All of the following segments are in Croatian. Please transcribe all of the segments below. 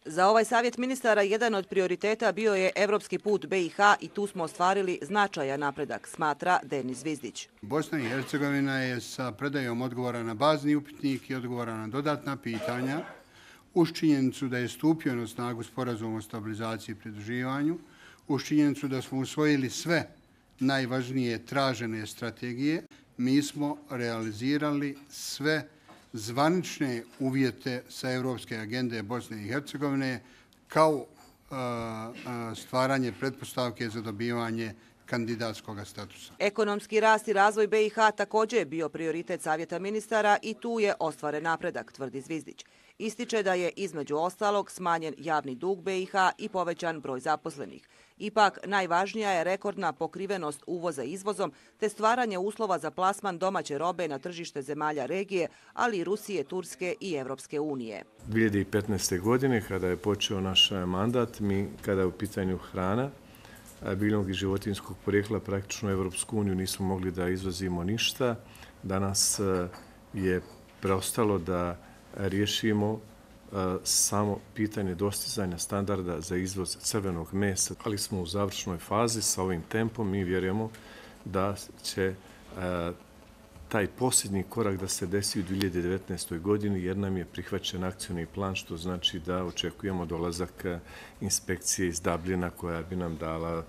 Za ovaj savjet ministara jedan od prioriteta bio je evropski put BiH i tu smo ostvarili značajan napredak, smatra Denis Zvizdić. Bosna i Hercegovina je sa predajom odgovora na bazni upitnik i odgovora na dodatna pitanja uz činjenicu da je stupio na snagu sporazum o stabilizaciji i pridruživanju, uz činjenicu da smo usvojili sve najvažnije tražene strategije, mi smo realizirali sve zvanične uvjete sa Evropske agende Bosne i Hercegovine kao stvaranje pretpostavke za dobivanje kandidatskog statusa. Ekonomski rast i razvoj BiH također je bio prioritet savjeta ministara i tu je ostvaren napredak, tvrdi Zvizdić. Ističe da je između ostalog smanjen javni dug BiH i povećan broj zaposlenih. Ipak, najvažnija je rekordna pokrivenost uvoza izvozom te stvaranje uslova za plasman domaće robe na tržište zemalja regije, ali i Rusije, Turske i Evropske unije. 2015. godine, kada je počeo naš mandat, mi, kada je u pitanju hrana, biljnog i životinjskog porijekla, praktično u Evropsku uniju nismo mogli da izvozimo ništa. Danas je preostalo da riješimo samo pitanje dostizanja standarda za izvoz crvenog mesa, ali smo u završnoj fazi sa ovim tempom. Mi vjerujemo da će taj posljednji korak da se desi u 2019. godini jer nam je prihvaćen akcioni plan, što znači da očekujemo dolazak inspekcije iz Dublina koja bi nam dala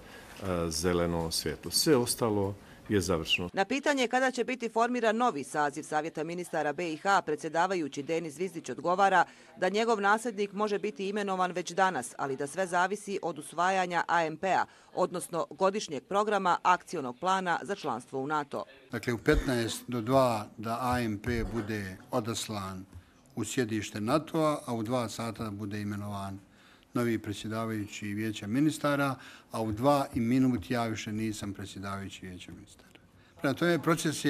zeleno svjetlo. Sve ostalo je završeno. Na pitanje kada će biti formiran novi saziv savjeta ministara BiH, predsjedavajući Denis Zvizdić odgovara da njegov nasljednik može biti imenovan već danas, ali da sve zavisi od usvajanja AMP-a, odnosno godišnjeg programa akcionog plana za članstvo u NATO. Dakle, u 15 do 2 da AMP bude odaslan u sjedište NATO-a, a u 2 sata bude imenovan novi predsjedavajući Vijeća ministara, a u 2 minuta ja više nisam predsjedavajući Vijeća ministara. Prema tome, proces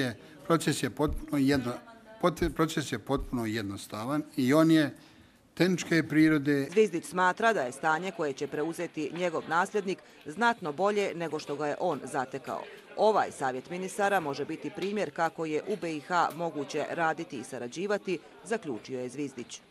je potpuno jednostavan i on je tehničke prirode. Zvizdić smatra da je stanje koje će preuzeti njegov nasljednik znatno bolje nego što ga je on zatekao. Ovaj savjet ministara može biti primjer kako je u BiH moguće raditi i sarađivati, zaključio je Zvizdić.